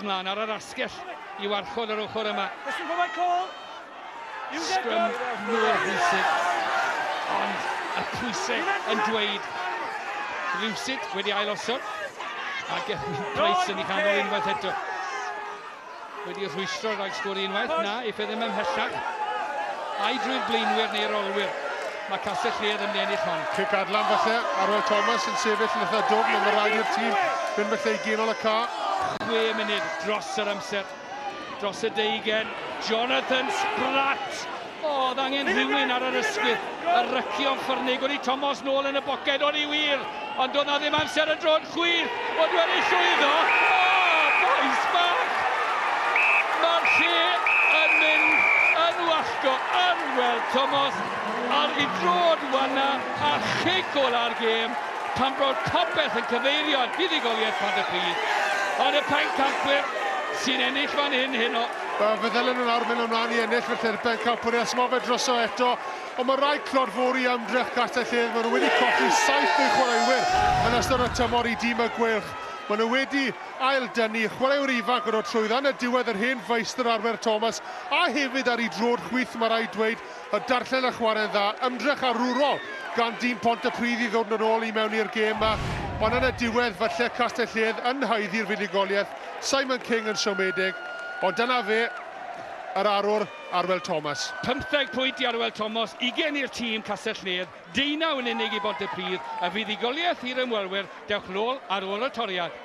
mlaen ar yr asgell i warchod yr ochr yma. Sgrym mor bwysig, ond y pwysau yn dweud rhywsut wedi ailosod, a Gethin Price yn ei chanol unwaith eto. Wedi rhwystro rhag sgori unwaith, na, eiff e ddim ymhellach. Ai drwy'r blaenwyr neu'r olwyr. Mae Castell Nedd yn mynd i ennill hon. Cic adlan falle, Arwel Thomas yn sefyll yn eitha dwfn, ond mae rhaid i'r tîm fynd falle i ganol y ca. 6 munud dros yr amser. Dros y deugen, Jonathan Spratt! O, oedd angen rhywun ar yr ysgwydd. Y rycio'n ffyrnig, wedi Thomas nôl yn y boced, o'n i wir! Ond doedd na ddim amser y dro'n chwith, ond wedi llwyddo! O, bois bach! Mae'r lle yn mynd yn wallgo. Arwel Thomas ar ei droed wanna a chic ola'r gêm pan bod popeth yn cyfeirio at fuddugoliaeth Pontypridd. Ond y pencampwyr sy'n ennill fan hyn heno. Fe ddylen nhw nawr mynd ymlaen i ennill felly'r bencampwriaeth. Smo fe droso eto, ond mae rhaid clodfori ymdrech Castell-nedd. Maen nhw wedi colli 7 o'u chwaraewyr yn ystod y tymor i dîm y Gweilch. Maen nhw wedi ail-dynnu chwaraewyr ifanc yn dod trwyddo yn y diwedd yr hen feistr Arwel Thomas, a hefyd ar ei droed chwith, mae rhaid dweud, y darllen y chwarae'n dda, ymdrech arwrol gan dîm Pontypridd i ddod yn ôl i mewn i'r gêm yma. Ond yn y diwedd, falle Castell-nedd yn haeddu'r fuddugoliaeth, Simon King yn siomedig, ond dyna fe, yr arwr Arwel Thomas. 15 pwynt i Arwel Thomas, 20 i'r tîm Castell-nedd, 19 yn unig i Bontypridd, y fuddugoliaeth i'r ymwelwyr, dewch nôl ar ôl y toriad.